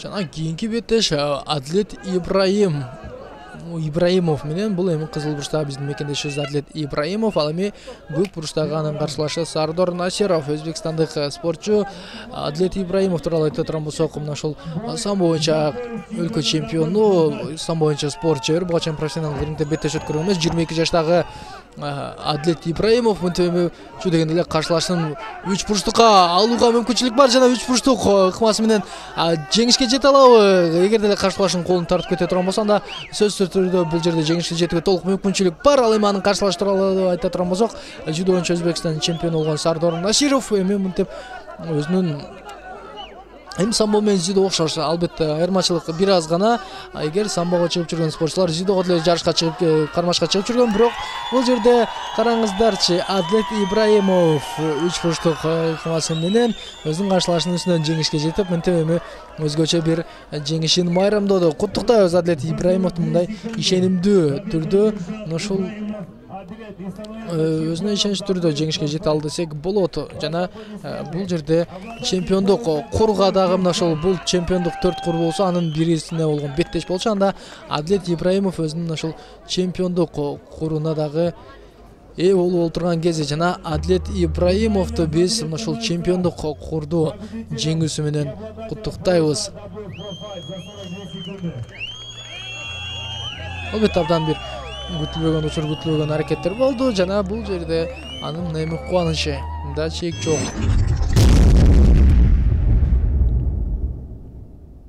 Жана кийинки беттеш Адлет Ибраимов менен бул эми кызыл бурчтагы биздин мекендешибиз Адлет Ибраимов, ал эми көк бурчтагы анын каршылашы Сардор Насиров. Өзбекстандык спортчу Адлет Ибраимов тууралуу айтып турган болсок, мына ушул самбо боюнча өлкө чемпиону, самбо боюнча спорт чебери, буга чейин профессионалдык рингде беттеш өткөргөн эмес. 22 жаштагы Адлет Ибраимов мынтип эми ушу дегенде эле каршылашын 3 бурчтукка алууга мүмкүнчүлүк бар жана 3 бурчтук ыкмасы менен жеңишке жете алабы? Эгерде эле каршылашын колун тартып кете турган болсо, анда сөзсүз түрдө бул жерде жеңишке жетүүгө толук мүмкүнчүлүк бар. Ал эми анын каршылашы тууралуу айта турган болсок, жудо боюнча Өзбекстан чемпиону болгон Сардор Насиров эми мынтип өзүнүн эми самбо менен жудо окшош, албетте айырмачылык бир аз гана. Эгер самбого чыгып жүргөн спортчулар жудого деле жарышка чыгып, кармашка чыгып жүргөн, бирок бул жерде караңыздарчы, Адлет Ибраимов 3 бурчтук ыкмасы менен өзүнүн каршылашынын үстүнөн жеңишке жетип, мынтип эми өзгөчө бир жеңишин майрамдоодо. Куттуктайбыз Адлет Ибраимовду мындай ишенимдүү түрдө ушул өзүнө ишенич түрдө жеңишке жете алды десек болот. Жана бул жерде чемпиондук курга дагы мына ошол бул чемпиондук 4 кур болсо, анын бирисине болгон беттеш болчу. Анда Адлет Ибраимов өзүнүн ошол чемпиондук куруна дагы ээ болуп олтурган кези. Жана Адлет Ибраимовду биз мына ушул чемпиондук курду жеңүүсү менен куттуктайбыз. Албетте абдан бир күтүлбөгөн аракеттер болду жана бул жерде анын эми кубанычы да чек жок.